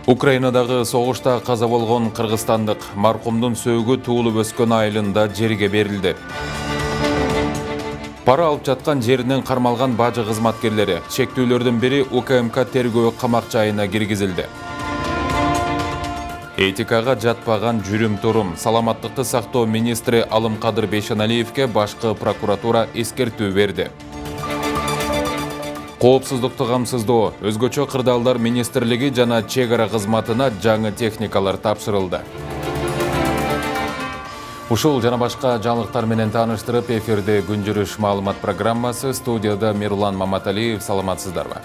Украинадагы согушта каза болгон кыргызстандык маркумдун сөөгү туулуп өскөн айылында жерге берилди. Пара алып жаткан жеринен кармалган бажы кызматкерлери чектүүлөрдүн бири УКМК тергөө камак жайына киргизилди. Этикага жатпаган жүрүм-турум. Саламаттыкты сактоо министри Алымкадыр Бейшеналиевке башкы прокуратура эскертүү берди. Коопсуздукту камсыздоо, өзгөчө кырдаалдар министрлиги жана чек ара кызматына жаңы техникалар тапшырылды. Ушул жана башка жаңылыктар менен тааныштырып, эфирде күн жүрүш маалымат программасы, студияда Мирлан Маматалиев. Саламатсыздарбы?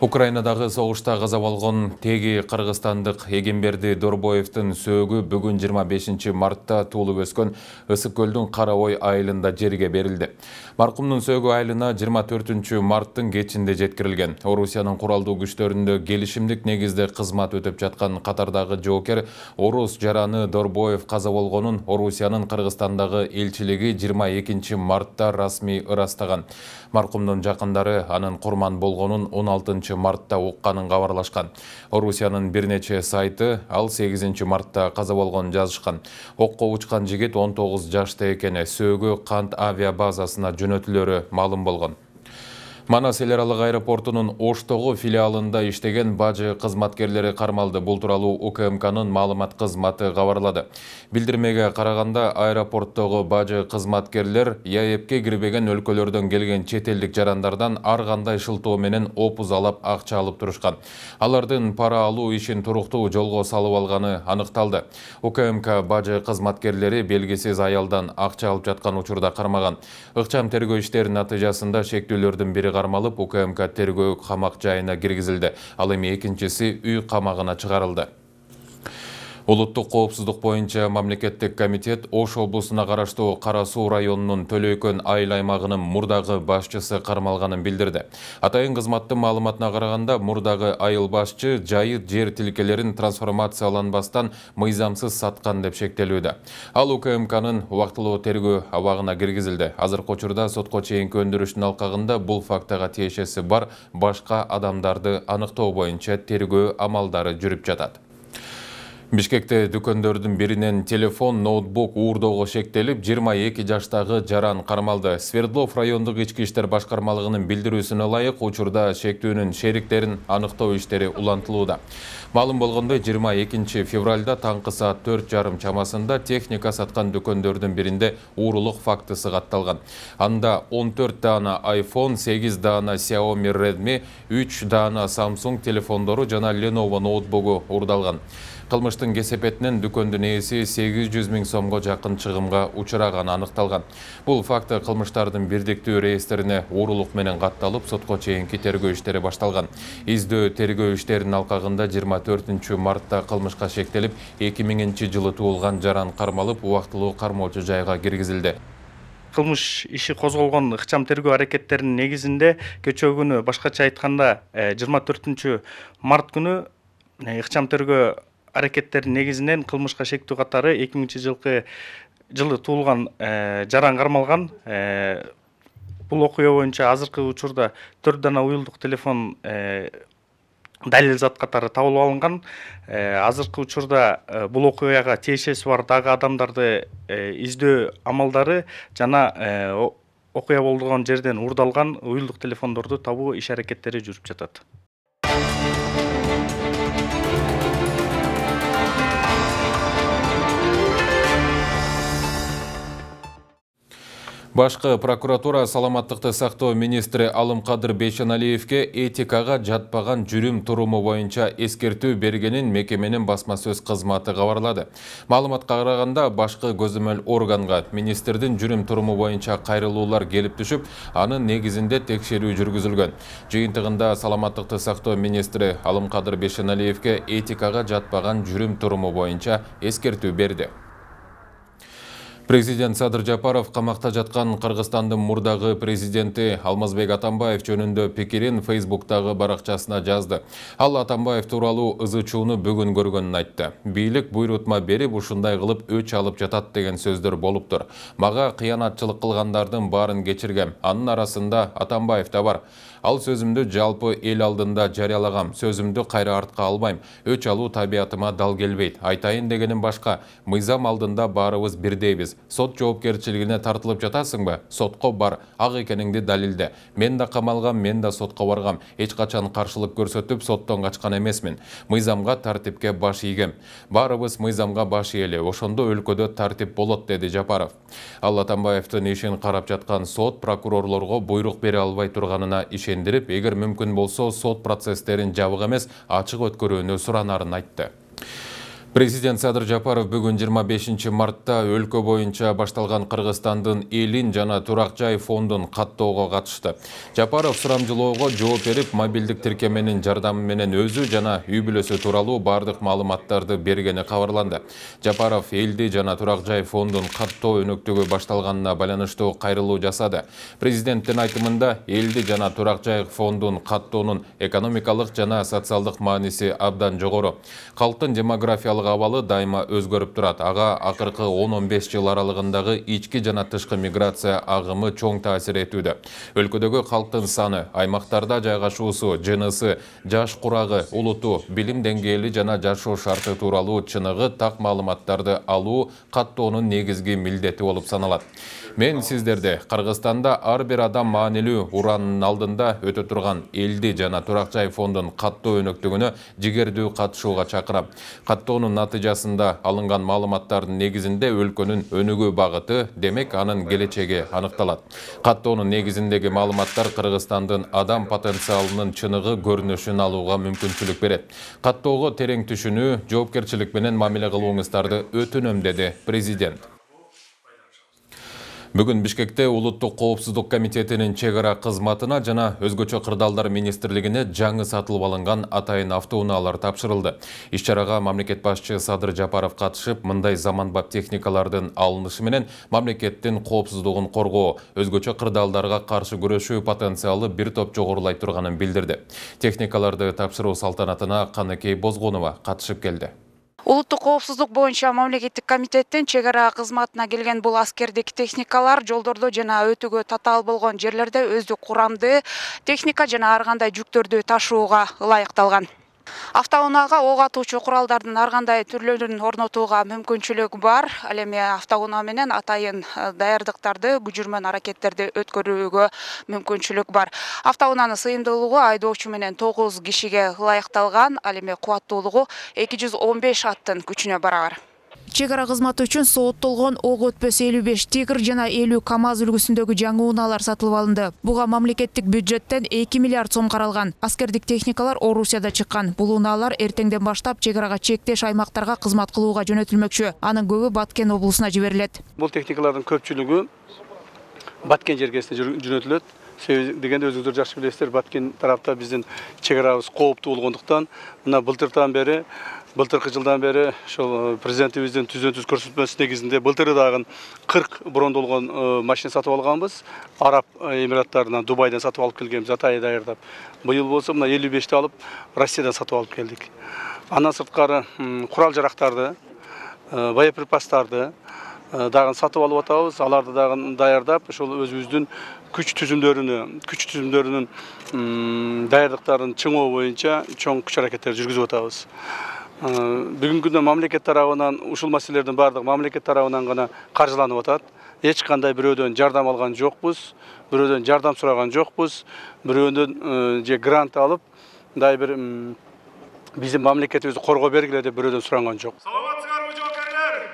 Украинадагы согушта каза болгон теги кыргызстандык Эгемберди Дорбоевдин сөөгү бүгүн 25 мартта туулуп өскөн Ысык көлдүн Кара Ой айылында жерге берилди. Маркумдун сөөгү айылына 24 марттын кечинде жеткирилген. Орусиянын куралдуу күчтөрүндө келишимдик негизде кызмат өтөп жаткан катардагы жоокер орус жараны Дорбоев каза болгонун Орусиянын Кыргызстандагы элчилиги 22 мартта расмий ырастаган. Маркумдун жакындары анын курман болгонун 16 мартта укканын кабарлашкан. Орусиянын бир нече сайты ал 8 мартта каза болгонун жазышкан. Окко учкан жигит 19 жашта экени, сөөгү Кант авиа базасына жөнөтүлөрү маалым болгон. Манас эл аралык аэропортунун Оштогу филиалында иштеген бажы кызматкерлери кармалды. Бул тууралуу УКМКнын маалымат кызматы кабарлады. Билдирмеге караганда, аэропорттогу бажы кызматкерлер ЯЭПке кирбеген өлкөлөрдөн келген чет элдик жарандардан ар кандай шылтоо менен опузалап акча алып турушкан. Алардын пара алуу ишин туруктуу жолго салып алганы аныкталды. УКМК бажы кызматкерлери белгисиз аялдан акча алып жаткан учурда кармаган. Ыкчам тергөө иштеринин натыйжасында чектүүлөрдүн бири кармалып, УКМК тергөө камак жайына киргизилди. Ал эми экинчиси үй камагына чыгарылды. Улуттук коопсуздук боюнча мамлекеттик комитет Ош облусуна караштуу Кара Суу районунун Төлөйкөн айыл аймагынын мурдагы башчысы кармалганын билдирди. Атайын кызматтын маалыматына караганда, мурдагы айыл башчы жайыт жер тилкелерин трансформацияланбастан мыйзамсыз саткан деп шектелүүдө. Ал УКМКнын убактылуу тергөө абагына киргизилди. Азыркы учурда сотко чейинки өндүрүштүн алкагында бул фактыга тиешеси бар башка адамдарды аныктоо боюнча тергөө амалдары жүрүп жатат. Бишкекте дүкөндөрдүн биринен телефон, ноутбук уурдоого шектелип, 22 жаштагы жаран кармалды. Свердлов райондук ички иштер башкармалыгынын билдирүүсүнө ылайык, учурда шектүүнүн шериктерин аныктоо иштери улантылууда. Маалым болгондой, 22 февралда таңкы саат 4:30 чамасында техника саткан дүкөндөрдүн биринде уурулук фактысы катталган. Анда 14 даана iPhone, 8 даана Xiaomi Redmi, 3 даана Samsung телефондору жана Lenovo ноутбугу уурдалган. Кылмыштын кесепетинен дүкөндүн ээси 800 000 сомго жакын чыгымга учураганы аныкталган. Бул факты кылмыштардын бирдиктүү реестрине уурулук менен катталып, сотко чейинки тергөө иштери башталган. Издөө тергөө иштеринин алкагында 24 мартта кылмышка шектелип, 2000 жылы туулган жаран кармалып, убактылуу кармоочу жайга киргизилди. Кылмыш иши козголгон ыкчам тергөө аракеттеринин негизинде кечээ күнү, башкача айтканда 24 март күнү ыкчам тергөө аракеттердин негизинен кылмышка шектүү катары 2000 жылы туулган жаран кармалган. Бул окуя боюнча азыркы учурда 4 дана уюлдук телефон далил зат катары табылып алынган. Азыркы учурда бул окуяга тиешеси бар дагы адамдарды издөө амалдары жана окуя болгон жерден уурдалган уюлдук телефондорду табуу иш аракеттери жүрүп жатат. Башкы прокуратура саламаттыкты сактоо министри Алымкадыр Бейшеналиевке этикага жатпаган жүрүм-туруму боюнча эскертүү бергенин мекеменин басма сөз кызматы кабарлады. Маалыматка караганда, башкы көзөмөл органга министрдин жүрүм-туруму боюнча кайрылуулар келип түшүп, анын негизинде текшерүү жүргүзүлгөн. Жыйынтыгында саламаттыкты сактоо министри Алымкадыр Бейшеналиевке этикага жатпаган жүрүм-туруму боюнча эскертүү берди. Президент Садыр Жапаров камакта жаткан Кыргызстандын мурдагы президенти Алмазбек Атамбаев жөнүндө пикирин Фейсбуктагы баракчасына жазды. Ал Атамбаев тууралуу ызы-чууну бүгүн көргөнүн айтты. Бийлик буйрутма берип, ушундай кылып өч алып жатат деген сөздөр болуптур. Мага кыянатчылык кылгандардын баарын кечиргем. Анын арасында Атамбаев да бар. Ал сөзүмдү жалпы эл алдында жарыялагам. Сөзүмдү кайра артка албайм. Өч алуу табиятыма дал келбейт. Айтайын дегеним башка. Мыйзам алдында баарыбыз бирдейбиз. Сот жоопкерчилигине тартылып жатасыңбы? Сотко бар. Ак экениңди далилде. Мен да камалгам, мен да сотко баргам. Эч качан каршылык көрсөтүп, соттон качкан эмесмин. Мыйзамга, тартипке баш ийгем. Баарыбыз мыйзамга баш ийели. Ошондо өлкөдө тартип болот, деди Жапаров. Ал Атамбаевдин ишин карап жаткан сот прокурорлорго буйрук бере албай турганына ишендирип, эгер мүмкүн болсо сот процесстерин жабык эмес, ачык өткөрүүнү суранарын айтты. Президент Садыр Жапаров бүгүн 25 мартта өлкө боюнча башталган Кыргызстандын элин жана турак жай фондун каттоого катышты. Жапаров сурамжылоого жооп берип, мобилдик тиркеменин жардамы менен өзү жана үй бүлөсү тууралуу бардык маалыматтарды бергени кабарланды. Жапаров элди жана турак жай фондун каттоо өнөктүгү башталганына байланыштуу кайрылуу жасады. Президенттин айтымында элди жана турак жай фондун каттоонун экономикалык жана социалдык мааниси абдан жогору. Калктын демографиялык абалы дайыма өзгөрүп турат. Ага акыркы 10-15 жыл аралыгындагы ички жана тышкы миграция агымы чоң таасир этүүдө. Өлкөдөгү калктын саны, аймактарда жайгашуусу, жынысы, жаш курагы, улуту, билим деңгээли жана жашоо шарты тууралуу чыныгы так маалыматтарды алуу каттоонун негизги милдети болуп саналат. Мен сиздерди Кыргызстанда ар бир адам маанилүү уранын алдында өтө турган элди жана турак жай фондун каттоо өнөктүгүнө жигердүү катышууга чакырам. Каттоонун натыйжасында алынган маалыматтардын негизинде өлкөнүн өнүгүү багыты, демек анын келечеги аныкталат. Каттоонун негизиндеги маалыматтар Кыргызстандын адам потенциалынын чыныгы көрүнүшүн алууга мүмкүнчүлүк берет. Каттоого терең түшүнүү, жоопкерчилик менен мамиле кылууңуздарды өтүнөм, деди президент. Бүгүн Бишкекте Улуттук коопсуздук комитетинин чек ара кызматына жана өзгөчө кырдаалдар министрлигине жаңы сатылып алынган атайын автоунаалар тапшырылды. Иш-чарага мамлекет башчы Садыр Жапаров катышып, мындай заманбап техникалардын алынышы менен мамлекеттин коопсуздугун коргоо, өзгөчө кырдаалдарга каршы күрөшүү потенциалы бир топ жогорулай турганын билдирди. Техникаларды тапшыруу салтанатына Каныкей Бозгонова катышып келди. Улуттук коопсуздук боюнча мамлекеттик комитеттин чек ара кызматына келген бул аскердик техникалар жолдордо жана өтүүгө татаал болгон жерлерде өздүк курамды техника жана ар кандай жүктөрдү ташууга ылайыкталган. Автоунаага ок атуучу куралдардын ар кандай түрлөрүн орнотууга мүмкүнчүлүк бар. Ал эми автоунаа менен атайын даярдыктарды, күжүрмөн аракеттерди өткөрүүгө мүмкүнчүлүк бар. Автоунаанын сыйымдуулугу айдоочу менен 9 кишиге ылайыкталган. Ал эми кубаттуулугу 215 аттын күчүнө барабар. Чек ара кызматы үчүн сооттолгон ок өтпөс 55 Тигр жана 50 КАМАЗ үлгүсүндөгү жаңы унаалар сатылып алынды. Буга мамлекеттик бюджеттен 2 миллиард сом каралган. Аскердик техникалар Орусияда чыккан. Бул унаалар эртеңден баштап чек арага чектеш аймактарга кызмат кылууга жөнөтүлмөкчү. Анын көбү Баткен облусуна жиберилет. Бул техникалардын көпчүлүгү Баткен жергесине жөнөтүлөт. Себеби дегенде өзүңүздөр жакшы билесиздер, Баткен тарапта биздин чек арабыз кооптуу болгондуктан, мына былтыркы жылдан бери ошол президентибиздин түзөн-түз көрсөтмөсү негизинде былтыры дагы 40 брондолгон машина сатып алганбыз. Араб Эмираттарынан, Дубайдан сатып алып келгенбиз, атайын даярдап. Быйыл болсо мына 55ти алып Россиядан сатып алып келдик. Андан сырткары курал-жарактарды, боеприпастарды дагы сатып алып атабыз. Аларды дагы даярдап, ошол өзүбүздүн күч түзүмдөрүнүн даярдыктарын чыңоо боюнча чоң күч аракеттер жүргүзүп атабыз. Бүгүнкү күндө мамлекет тарабынан ушул маселелердин баардыгы мамлекет тарабынан гана каржыланып атат. Эч кандай бирөөдөн жардам алган жокпуз, бирөөдөн жардам сураган жокпуз, бирөөдөн же грант алып, мындай бир биздин мамлекетибизди коргоо бергиле деп бирөөдөн суранган жок. Саламатсыздарбы жоокерлер?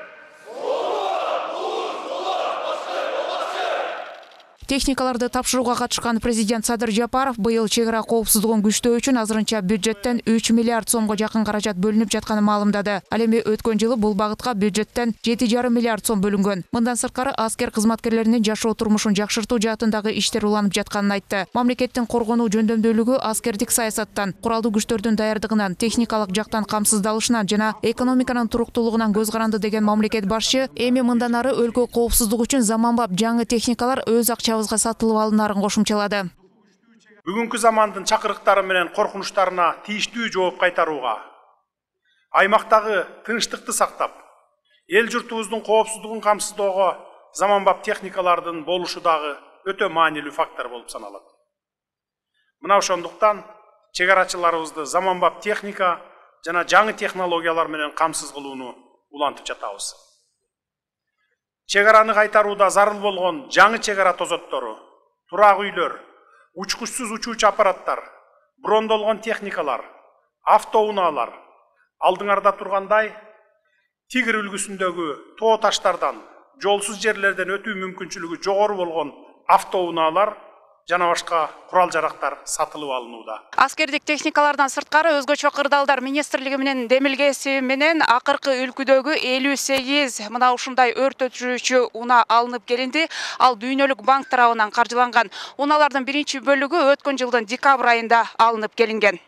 Техникаларды тапшырууга катышкан президент Садыр Жапаров быйыл чек ара коопсуздугун күчтөө үчүн азырынча бюджеттен 3 миллиард сомго жакын каражат бөлүнүп жатканын маалымдады. Ал эми өткөн жылы бул багытка бюджеттен 7,5 миллиард сом бөлүнгөн. Мындан сырткары аскер кызматкерлеринин жашоо турмушун жакшыртуу жаатындагы иштер уланып жатканын айтты. Мамлекеттин коргонуу жөндөмдүүлүгү аскердик саясаттан, куралдуу күчтөрдүн даярдыгынан, техникалык жактан камсыздалышынан жана экономиканын туруктуулугунан көз каранды деген мамлекет башчы эми мындан ары өлкө коопсуздугу үчүн заманбап жаңы техникалар өз акчабызга сатылып алынарын кошумчалады. Бүгүнкү замандын чакырыктары менен коркунучтарына тийиштүү жооп кайтарууга, аймактагы тынчтыкты сактап, эл журтубуздун коопсуздугун камсыздоого заманбап техникалардын болушу дагы өтө маанилүү фактор болуп саналат. Мына ошондуктан чек арачыларыбызды заманбап техника жана жаңы технологиялар менен камсыз кылууну улантып жатабыз. Чек араны кайтарууда зарыл болгон жаңы чек ара тозоттору, турак үйлөр, учкучсуз учуучу аппараттар, брондолгон техникалар, автоунаалар алдыңарда тургандай тигр үлгүсүндөгү тоо таштардан, жолсуз жерлерден өтүү мүмкүнчүлүгү жогору болгон автоунаалар жана башка курал жарактар сатылып алынууда. Аскердик техникалардан сырткары өзгөчө кырдаалдар министрлиги менен демилгеси менен акыркы үлкүдөгү 58 мына ушундай өрт өчүрүүчү унаа алынып келинди. Ал Дүйнөлүк банк тарабынан каржыланган. Унаалардын биринчи бөлүгү өткөн жылдын декабрь айында алынып келинген.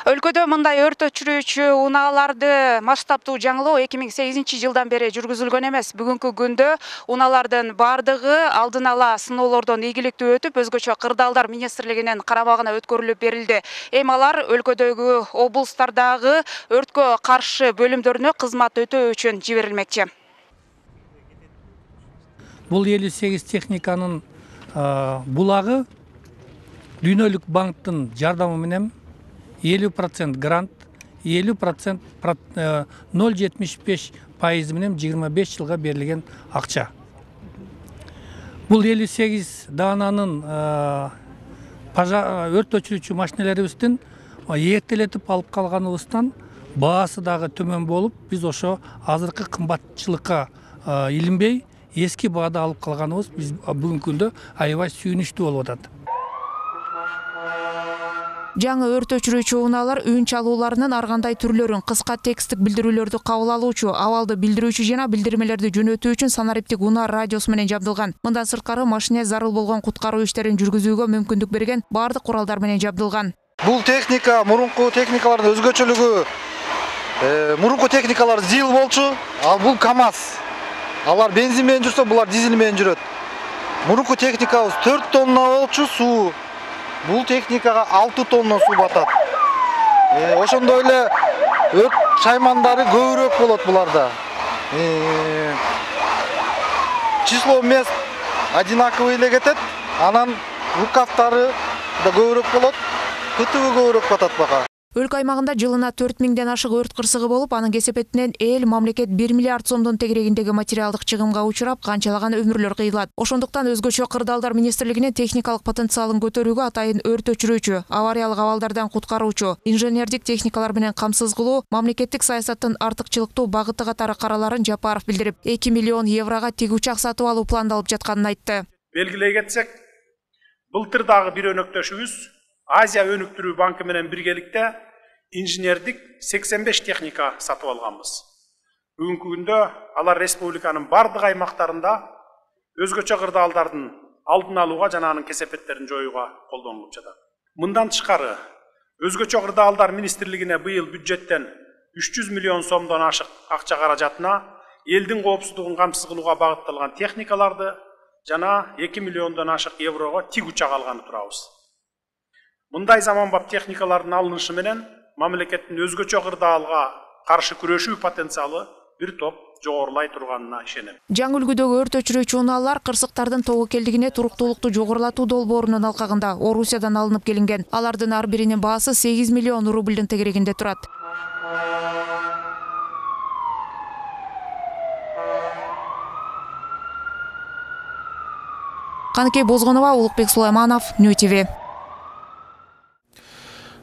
Өлкөдө мындай өрт өчүрүүчү унааларды масштабтуу жаңылоо 2008 жылдан бери жүргүзүлгөн эмес. Бүгүнкү күндө унаалардын бардыгы алдын ала сыноолордон ийгиликтүү өтүп, өзгөчө кырдаалдар министрлигинин карамагына өткөрүлүп берилди. Эми алар өлкөдөгү облустардагы өрткө каршы бөлүмдөрүнө кызмат өтөө үчүн жиберилмекчи. Бул 58 техниканын булагы Дүйнөлүк банктын жардамы менен 50% грант, 50% 0,75% менен 25 жылга берилген акча. Бул 58 даананын өрт өчүрүүчү машиналарыбыздын эртелетип алып калганыбыздан баасы дагы төмөн болуп, биз ошо азыркы кымбатчылыкка илинбей эски баада алып калганыбыз биз бүгүнкү күндө аябай сүйүнүчтүү болуп атат. Жаңы өрт өчүрүүчү унаалар үн чалууларынын ар кандай түрлөрүн, кыска тексттик билдирүүлөрдү кабыл алуучу, абалды билдирүүчү жана билдирмелерди жөнөтүү үчүн санариптик унаа радиосу менен жабдылган. Мындан сырткары машине зарыл болгон куткаруу иштерин жүргүзүүгө мүмкүндүк берген баардык куралдар менен жабдылган. Бул техника мурунку техникалардын өзгөчөлүгү, мурунку техникалар ЗИЛ болчу, ал бул КАМАЗ. Алар бензин менен жүрсө, булар дизель менен жүрөт. Мурунку техникабыз 4 тонна болчу суу. Бул техникага 6 тонна суу батат. Ошондой эле өрт шаймандары көбүрөөк болот буларда. Число мест одинаковый эле кетет. Анан рукавтары да көбүрөөк болот. Кытыбы көбүрөөк батат бага. Өлкө аймагында жылына 4000ден ашык өрт кырсыгы болуп, анын кесепетинен эл мамлекет 1 миллиард сомдун тегерегиндеги материалдык чыгымга учурап, канчалаган өмүрлөр кыйылат. Ошондуктан өзгөчө кырдаалдар министрлигинин техникалык потенциалын көтөрүүгө атайын өрт өчүрүүчү, авариялык абалдардан куткаруучу, инженердик техникалар менен камсыз кылуу мамлекеттик саясаттын артыкчылыктуу багыты катары караларын Жапаров билдирип, 2 миллион еврого тиг учак сатып алуу пландалып жатканын айтты. Белгилей кетсек, былтыр дагы бир өнөктөшүбүз Азия өнүктүрүү банкы менен биргеликте инженердик 85 техника сатып алганбыз. Бүгүнкү күндө алар республиканын бардык аймактарында өзгөчө кырдаалдардын алдын алууга жана анын кесепеттерин жоюуга колдонулуп жатат. Мындан тышкары, өзгөчө кырдаалдар министрлигине быйыл бюджеттен 300 миллион сомдон ашык акча каражатына элдин коопсуздугун камсыз кылууга багытталган техникаларды жана 2 миллиондон ашык еврого тиг учак алганы турабыз. Мындай заманбап техникалардын алынышы менен мамлекеттин өзгөчө кырдаалга каршы күрөшүү потенциалы бир топ жогорулай турганына ишенем. Жаңы үлгүдөгү өрт өчүрүүчү унаалар кырсыктардын тобокелдигине туруктуулукту жогорулатуу долбоорунун алкагында Орусиядан алынып келинген. Алардын ар биринин баасы 8 миллион рубльдин тегерегинде турат. Каныкей Бозгонова, Улукбек Сулайманов, Нью ТВ.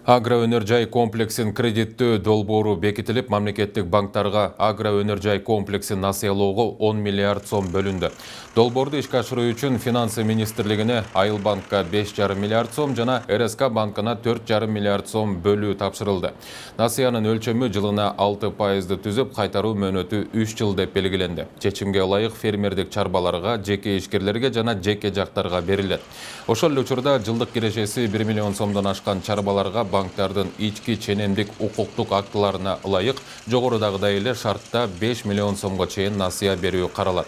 Агроөнөр-жай комплексин кредиттөө долбоору бекитилип, мамлекеттик банктарга агроөнөр-жай комплексин насыялоого 10 миллиард сом бөлүндү. Долбоорду ишке ашыруу үчүн Финансы министрлигине Айыл банкка 5,5 миллиард сом жана РСК банкына 4,5 миллиард сом бөлүү тапшырылды. Насыянын өлчөмү жылына 6% түзүп, кайтаруу мөөнөтү 3 жыл деп белгиленди. Чечимге ылайык фермердик чарбаларга, жеке ишкерлерге жана жеке жактарга берилет. Ошол эле учурда жылдык кирешеси 1 миллион сомдон ашкан чарбаларга банктардын ички ченемдик укуктук актыларына ылайык жогорудагыдай эле шартта 5 миллион сомго чейин насыя берүү каралат.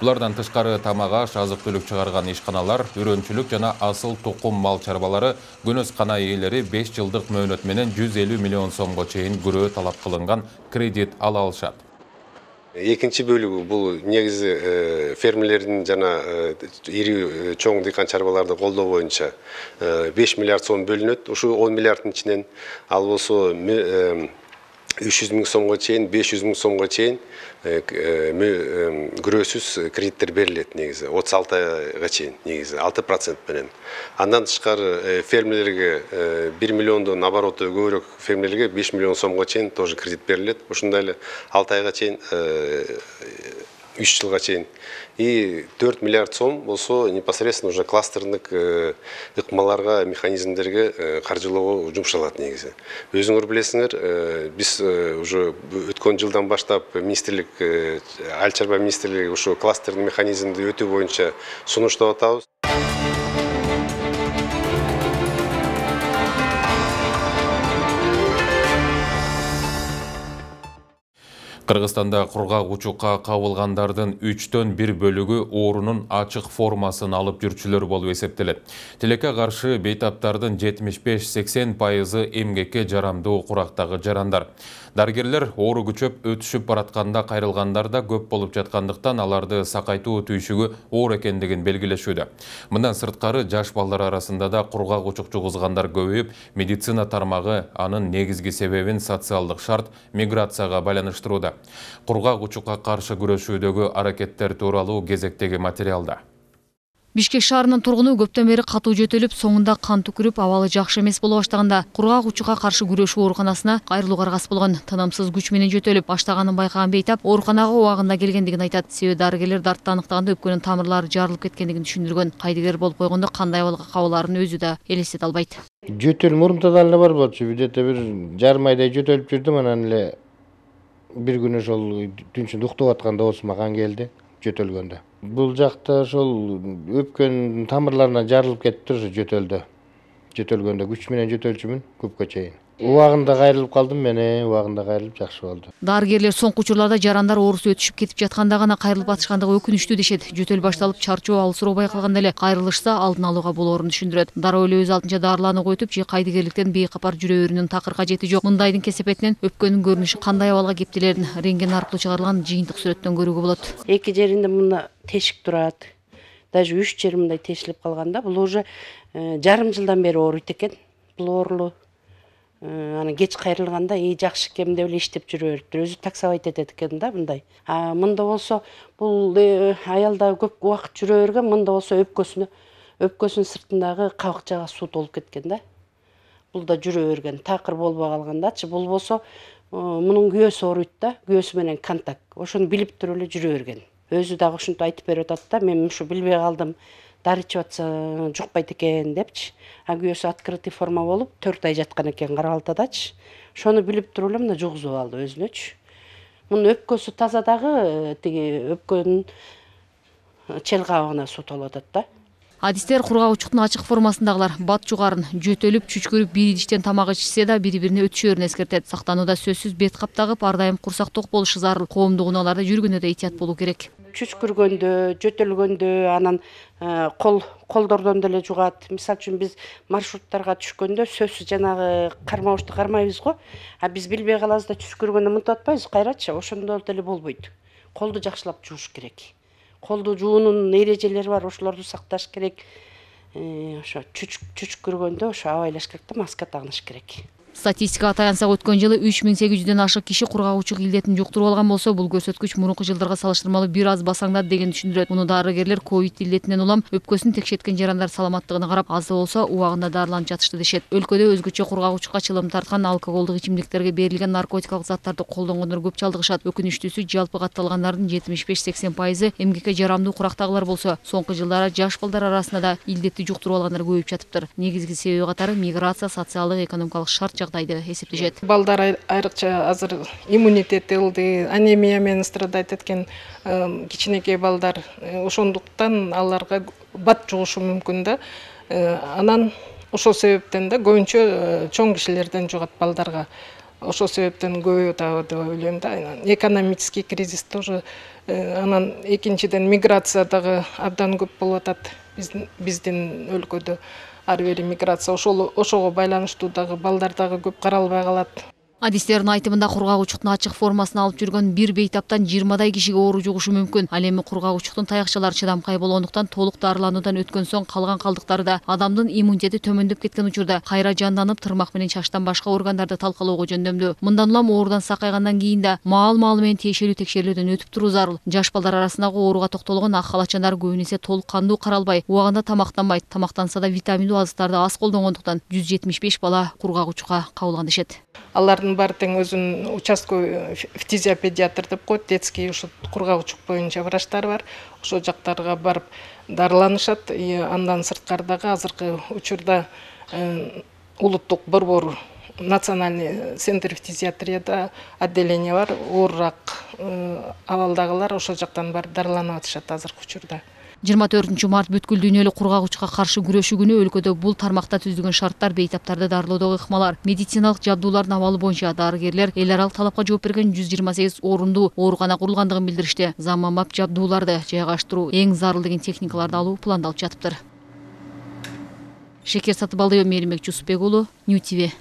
Булардан тышкары тамак-аш, азык-түлүк чыгарган ишканалар, үрөнчүлүк жана асыл тукум мал чарбалары көнөз кана ээлери 5 жылдык мөөнөт менен 150 миллион сомго чейин күрөө талап кылынган кредит ала алышат. Экинчи бөлүгү бул негизи фермерлердин жана ири чоң дыйкан чарбаларды колдоо боюнча 5 миллиард сом бөлүнөт. Ушу 10 миллиарддын ичинен ал болсо 300 миң сомго чейин, 500 миң сомго чейин күрөөсүз кредиттер берилет негизи. 36 айга чейин негизи 6% менен. Андан тышкары фермерлерге 1 миллиондон обороты көбүрөөк фермерлерге 5 миллион сомго чейин тоже кредит берилет. Ушундай эле 6 айга чейин 3 жылга чейин. И 4 миллиард сом болсо непосредственно уже кластердык ыкмаларга, механизмдерге каржылоого жумшалат негизи. Өзүңөр билесиңер, биз уже өткөн жылдан баштап министрлик, Айыл чарба министрлиги ушу кластердик механизмди өтүү боюнча сунуштап атабыз. Кыргызстанда кургак учукка кабылгандардын 3төн 1 бөлүгү оорунун ачык формасын алып жүрчүлөр болуп эсептелет. Тилекке каршы бейтаптардын 75-80% эмгекке жарамдуу курактагы жарандар. Дарыгерлер оору күчөп өтүшүп баратканда кайрылгандар да көп болуп жаткандыктан аларды сакайтуу түйшүгү оор экендигин белгилешүүдө. Мындан сырткары жаш балдар арасында да кургак учук жугузгандар көбөйүп, медицина тармагы анын негизги себебин социалдык шарт, миграцияга байланыштырууда. Кургак учукка каршы күрөшүүдөгү аракеттер тууралуу кезектеги материалда. Бишкек шаарынын тургуну көптөн бери катуу жөтөлүп, соңунда кан түкүрүп, абалы жакшы эмес боло баштаганда кургак учукка каршы күрөшүү ооруканасына кайрылууга аргасыз болгон. Тынымсыз күч менен жөтөлүп, баштаганын байкаган бейтап ооруканага убагында келгендигин айтат. Себеби дарыгерлер дартты аныктаганда өпкөнүн тамырлары жарылып кеткендигин түшүндүргөн. Кайдыгер болуп койгондо кандай абалга кабылаарын өзү да элестете албайт. Жөтөл мурунта да бар болчу, бирдете бир жарым айдай жөтөлүп жүрдүм, анан эле бир күнү ошол түнчүндө уктап атканда оозума кан келди жөтөлгөндө. Бул жакта ошол өпкөн тамырларына жарылып кетиптир ошо жөтөлгөндө күч менен жөтөлчүмүн көпкө чейин. Убагында кайрылып калдым мен, убагында кайрылып жакшы болду. Дарыгерлер соңку учурларда жарандар оорусу өтүшүп кетип жатканда гана кайрылып атышкандыгы өкүнүчтүү дешет. Жөтөл башталып, чарчоо алысыроо байкалганда эле кайрылышса алдын алууга болоорун түшүндүрөт. Дароо эле өз алдынча дарыланууга өтүп, же кайдыгерликтен бейкапар жүрө берүүнүн такыр кажети жок. Мындайдын кесепетинен өпкөнүн көрүнүшү кандай абалга кептелерин рентген аркылуу чыгарылган жыйынтык сүрөттөн көрүүгө болот. Эки жеринде мына тешик турат. Даже 3 жери мындай тешилип калганда, бул уже жарым жылдан бери ооруйт экен. Бул оорулуу. Аны кеч кайрылганда жакшы экен деп эле иштеп жүрө бериптир. Өзү таксовать этет экен да мындай. Мында болсо бул аялда көп убакыт жүрө берген, мында болсо өпкөсүнүн сыртындагы кабыкчага суу толуп кеткен да. Бул да жүрө берген, такыр болбой калгандачы. Бул болсо мунун күйөөсү ооруйт да, күйөөсү менен контакт. Ошону билип туруп эле жүрө берген. Өзү дагы ушинтип айтып берип атат да, мен ушу билбей калдым. Дары ичип атса жукпайт экен депчи. Күйөөсү открытый форма болуп 4 ай жаткан экен Карабалтадачы. Ошону билип туруп эле мына жугузуп алды өзүнөчү. Мунун өпкөсү таза дагы тиги өпкөнүн чел кабыгына суу толуп атат да. Адистер кургак учуктун ачык формасындагылар бат жугарын жөтөлүп, чүчкүрүп, бир идиштен тамак ичсе да бири-бирине өтүшөөрүн эскертет. Сактанууда сөзсүз бет кап тагып, ар дайым курсак ток болушу зарыл. Коомдук унааларда жүргөндө да этият болуу керек. Чүчкүргөндө, жөтөлгөндө, анан колдордон деле жугат. Мисалы үчүн биз маршруттарга түшкөндө сөзсүз жанагы кармабычты кармайбыз го. Биз билбей калабыз да чүчкүргөндө мынтип атпайбыз, кайрачы, ошондо деле болбойт. Колду жакшылап жууш керек. Колду жуунун эрежелери бар, ошолорду сакташ керек. Ошо чүчкүргөндө ошо абайлаш керек да, маска тагыныш керек. Статистикага таянсак, өткөн жылы 3800дөн ашык киши кургагучулук илдетин жуктуруп алган болсо, бул көрсөткүч мурунку жылдарга салыштырмалуу бир аз басаңдады деген түшүндүрөт. Муну дарыгерлер ковид илдетинен улам өпкөсүн текшерткен жарандар саламаттыгына карап, аз да болсо убагында дарыланып жатышты дешет. Өлкөдө өзгөчө кургагучулукка чылым тарткан алкоголдук ичимдиктерге берилген наркотикалык заттарды колдонгондор көп чалдыгышат. Өкүнүчтүүсү, жалпы катталгандардын 75-80% эмгекке жарамдуу курактагылар болсо, соңку жылдары жаш балдар арасында да илдетти жуктуруп алгандар көбөйүп жатыптыр. Негизги себеби катары миграция, социалдык, экономикалык шарт жагдайды эсептешет. Балдар айрыкча азыр иммунитети ылды, анемия менен страдать эткен кичинекей балдар, ошондуктан аларга бат жугушу мүмкүн да. Анан ошол себептен да көбүнчө чоң кишилерден жугат балдарга. Ошол себептен көбөйөт деп ойлойм да. Экономический кризис тоже, анан экинчиден миграция дагы абдан көп болуп атат биздин өлкөдө. Ар бери миграция ошого байланыштуу дагы балдар дагы көп каралбай калат. Адистердин айтымында кургагучулуктун ачык формасын алып жүргөн бир бейтаптан 20дай кишиге оору жугушу мүмкүн. Ал эми кургагучулуктун таякчалары чыдамкай болгондуктан толук дарылануудан өткөн соң калган калдыктары да адамдын иммунитети төмөндөп кеткен учурда кайра жанданып, тырмак менен чачтан башка органдарды талкалоого жөндөмдүү. Мындан улам оорудан сакайгандан кийин да маал-маалы менен тиешелүү текшерүүлөрдөн өтүп туруу зарыл. Жаш балдар арасындагы ооруга токтолгон ак халачандар көбүн эсе толук кандуу каралбай, убагында тамактанбайт. Тамактанса да витаминдүү азыктарды аз колдонгондуктан 175 бала кургагучукка кабылган дешет. Алардын баары тең өзүнүн участковый фтизиопедиатр деп коет, детский ушу кургагучулук боюнча врачтар бар. Ошол жактарга барып дарыланышат. Андан сырткардагы азыркы учурда улуттук борбор национальный центр фтизиатрияда отделение бар. Оорураак абалдагылар ошол жактан барып дарыланып атышат азыркы учурда. 24 март бүткүл дүйнөлүк кургагучукка каршы күрөшүү күнү өлкөдө бул тармакта түзүлгөн шарттар бейтаптарды дарылоодогу ыкмалар, медициналык жабдуулардын абалы боюнча дарыгерлер эл аралык талапка жооп берген 128 орунду оорукана курулгандыгын билдиришти. Заманбап жабдууларды жайгаштыруу, эң зарыл деген техникаларды алуу пландалып жатыптыр. Шекер Сатыбалдиева, Мээринбек Жусупбек уулу, New TV.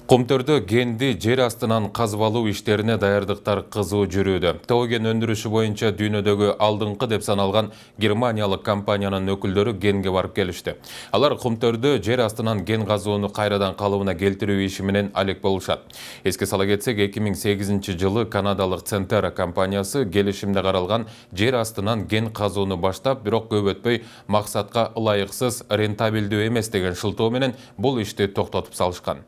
Кумтөрдө генди жер астынан казып алуу иштерине даярдыктар кызуу жүрүүдө. Тоо кен өндүрүшү боюнча дүйнөдөгү алдыңкы деп саналган германиялык компаниянын өкүлдөрү генге барып келишти. Алар кумтөрдө жер астынан ген казууну кайрадан калыбына келтирүү иши менен алек болушат. Эске сала кетсек, 2008 жылы канадалык Centera компаниясы келишимде каралган жер астынан ген казууну баштап, бирок көп өтпөй максатка ылайыксыз, рентабелдүү эмес деген шылтоо менен бул ишти токтотуп салышкан.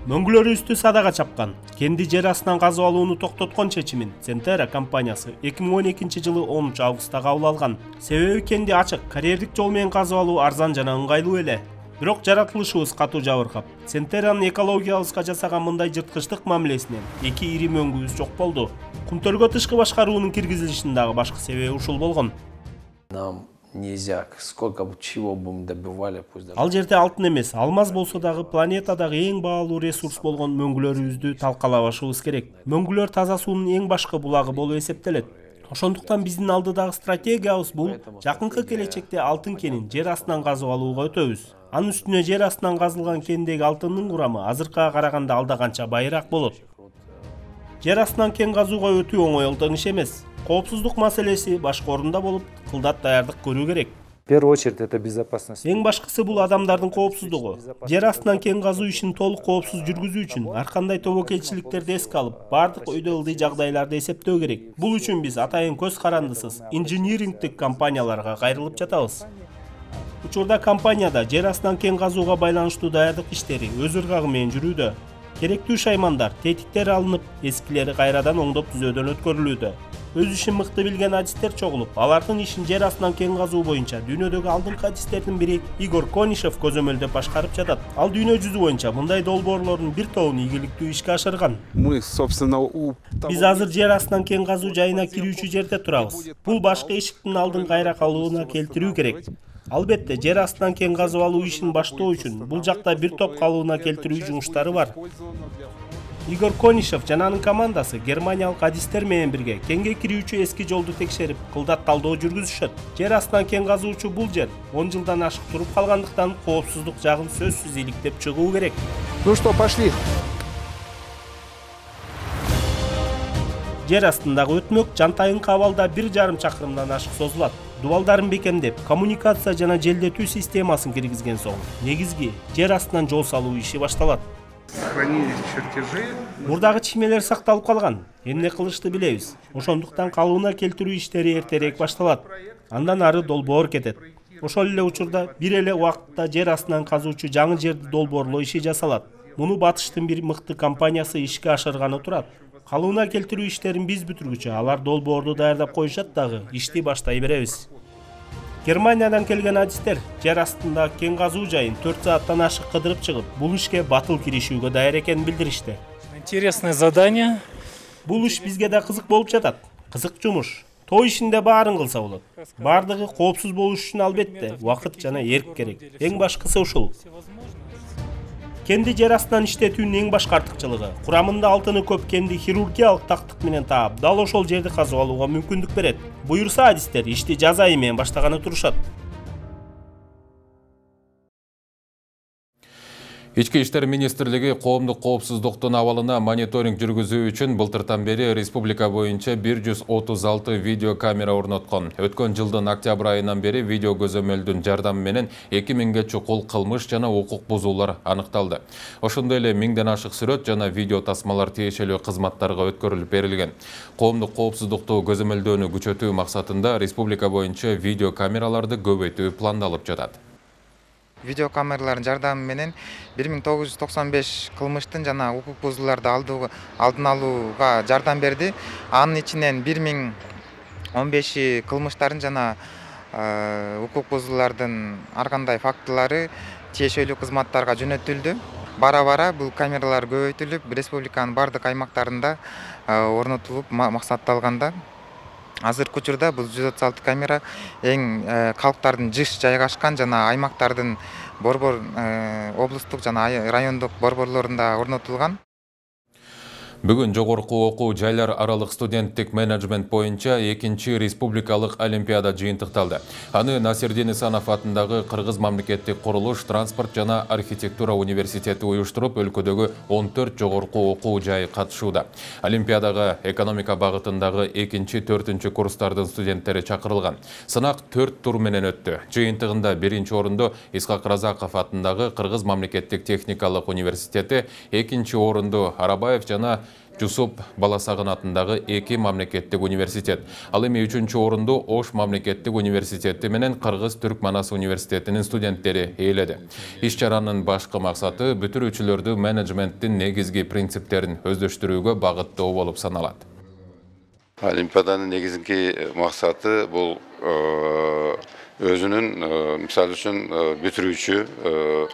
Мөңгүлөрүбүздү садага чапкан. Кенди жер астынан казып алууну токтоткон чечимин Centera компаниясы 2012 жылы 10 августта кабыл алган. Себеби кенди ачык, карьердик жол менен казып алуу арзан жана ыңгайлуу эле. Бирок жаратылышыбыз катуу жабыркап, Centera'нын экологиябызга жасаган мындай жырткычтык мамилесинен эки ири мөңгүбүз жок болду. Кумтөргө тышкы башкаруунун киргизилишинин дагы башкы себеби ушул болгон. Нельзя, сколько бы чего бы мы добивали, пусть даже... Ал жерде алтын эмес, алмаз болсо дагы планетадагы эң баалуу ресурс болгон мөңгүлөрүбүздү талкалабашыбыз керек. Мөңгүлөр таза суунун эң башкы булагы болуп эсептелет. Ошондуктан биздин алдыдагы стратегиябыз бул жакынкы келечекте алтын кенин жер астынан казып алууга өтөбүз. Анын үстүнө жер астынан казылган кендеги алтындын курамы азыркыга караганда алда канча байыраак болот. Жер астынан кен казууга өтүү оңой иш эмес. Коопсуздук маселеси башка орунда болуп, кылдат даярдык көрүү керек. В первую очередь это безопасность. Эң башкысы бул адамдардын коопсуздугу. Жер астынан кен казуу ишин толук коопсуз жүргүзүү үчүн ар кандай тобокелчиликтерди эске алып, бардык өйдө ылдый жагдайларды эсептөө керек. Бул үчүн биз атайын көз карандысыз инжинирингдик компанияларга кайрылып жатабыз. Учурда компанияда жер астынан кен казууга байланыштуу даярдык иштери өз ыргагы менен жүрүүдө. Керектүү шаймандар, тетиктер алынып, эскилери кайрадан оңдоп түзөөдөн өткөрүлүүдө. Өз ишин мыкты билген адистер чогулуп, алардын ишин жер астынан кен казуу боюнча дүйнөдөгү алдыңкы адистердин бири Игорь Конишев көзөмөлдөп башкарып жатат. Ал дүйнө жүзү боюнча мындай долбоорлордун бир тобун ийгиликтүү ишке ашырган. Биз азыр жер астынан кен казуу жайына кирүүчү жерде турабыз. Бул башкы эшиктин алдын кайра калууна келтирүү керек. Албетте, жер астынан кен казып алуу ишин баштоо үчүн бул жакта бир топ калыбына келтирүү жумуштары бар. Игорь Конишев жана анын командасы германиялык адистер менен бирге кенге кирүүчү эски жолду текшерип, кылдат талдоо жүргүзүшөт. Жер астынан кен казуучу бул жер 10 жылдан ашык туруп калгандыктан коопсуздук жагын сөзсүз иликтеп чыгуу керек. Ну что, пошли. Жер астындагы өтмөк жантайыңкы абалда 1,5 чакырымдан ашык созулат. Дубалдарын бекемдеп, коммуникация жана желдетүү системасын киргизген соң, негизги жер астынан жол салуу иши башталат. Мурдагы чишмелер сакталып калган. Эмне кылышты билебиз. Ошондуктан калыбына келтирүү иштери эртерээк башталат. Андан ары долбоор кетет. Ошол эле учурда бир эле убакытта жер астынан казуучу жаңы жерди долбоорлоо иши жасалат. Муну Батыштын бир мыкты компаниясы ишке ашырганы турат. Калыбына келтирүү иштерин биз бүтүргүчө алар долбоорду даярдап коюшат дагы, ишти баштай беребиз. Германиядан келген адистер жер астында кен казуу жайын 4 сааттан ашык кыдырып чыгып, бул ишке батыл киришүүгө даяр экенин билдиришти. Интересное задание. Бул иш бизге да кызык болуп жатат. Кызык жумуш. Той ишинде баарын кылса болот. Бардыгы коопсуз болуш үчүн албетте убакыт жана эрк керек. Эң башкысы ушул. Кенди жер астынан иштетүүнүн эң башкы артыкчылыгы курамында алтыны көп кенди хирургиялык тактык менен таап, дал ошол жерди казып алууга мүмкүндүк берет. Буюрса адистер ишти жаз айы менен баштаганы турушат. Ички иштер министрлиги коомдук коопсуздуктун абалына мониторинг жүргүзүү үчүн былтыртан бери республика боюнча 136 видеокамера орноткон. Өткөн жылдын октябрь айынан бери видео көзөмөлдүн жардамы менен 2000ге чукул кылмыш жана укук бузуулар аныкталды. Ошондой эле 1000ден ашык сүрөт жана видео тасмалар тиешелүү кызматтарга өткөрүлүп берилген. Коомдук коопсуздукту көзөмөлдөөнү күчөтүү максатында республика боюнча видеокамераларды көбөйтүү пландалып жатат. Видеокамералардын жардамы менен 1995 кылмыштын жана укук бузууларды алдын алууга жардам берди. Анын ичинен 1015 кылмыштардын жана укук бузуулардын ар кандай фактылары тиешелүү кызматтарга жөнөтүлдү. Бара-бара бул камералар көбөйтүлүп, республиканын бардык аймактарында орнотулуп максатталганда. Азыркы учурда бул 136 камера эң калктардын жыш жайгашкан жана аймактардын борбор облустук жана райондук борборлорунда орнотулган. Бүгүн жогорку окуу жайлар аралык студенттик менеджмент боюнча 2-чи республикалык олимпиада жыйынтыкталды. Аны Насирдин Исанов атындагы Кыргыз мамлекеттик курулуш, транспорт жана архитектура университети уюштуруп, өлкөдөгү 14 жогорку окуу жайы катышууда. Олимпиадага экономика багытындагы 2-чи, 4-чү курстардын студенттери чакырылган. Сынак 4 тур менен өттү. Жыйынтыгында 1-чи орунду Исхак Разаков атындагы Кыргыз мамлекеттик техникалык университети, 2-чи орунду Арабаев жана Жусуп Баласагын атындагы 2 мамлекеттик университет. Ал эми 3-чү орунду Ош мамлекеттик университети менен Кыргыз-Түрк Манас университетинин студенттери ээледи. Иш-чаранын башкы максаты бүтүрүүчүлөрдү менеджменттин негизги принциптерин өздөштүрүүгө багыттоо болуп саналат. Олимпиаданын негизги максаты бул өзүнүн мисалы үчүн бүтүрүүчү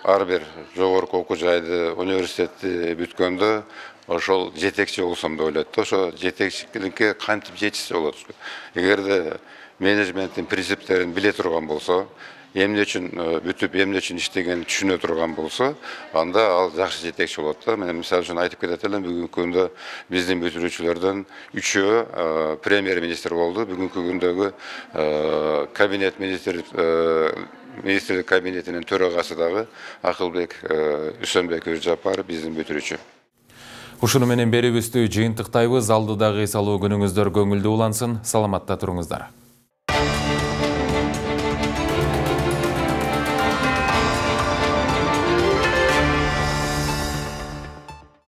ар бир жогорку окуу жайды университетти бүткөндө ошол жетекчи болсом деп ойлойт. Ошо жетекчиликке кантип жетишсе болот. Эгерде менеджменттин принциптерин биле турган болсо, эмне үчүн бүтүп, эмне үчүн иштегенин түшүнө турган болсо, анда ал жакшы жетекчи болот да. Мен мисалы үчүн айтып кетет элем, бүгүнкү күндө биздин бүтүрүүчүлөрдөн 3-өө премьер-министр болду. Бүгүнкү күндөгү кабинет министрлик кабинетинин төрагасы дагы Акылбек Үсөнбек Өзжапаров биздин бүтүрүүчү. Ушуну менен берүүбүздү жыйынтыктайбыз. Алдыдагы эс алуу күнүңүздөр көңүлдүү улансын. Саламатта туруңуздар.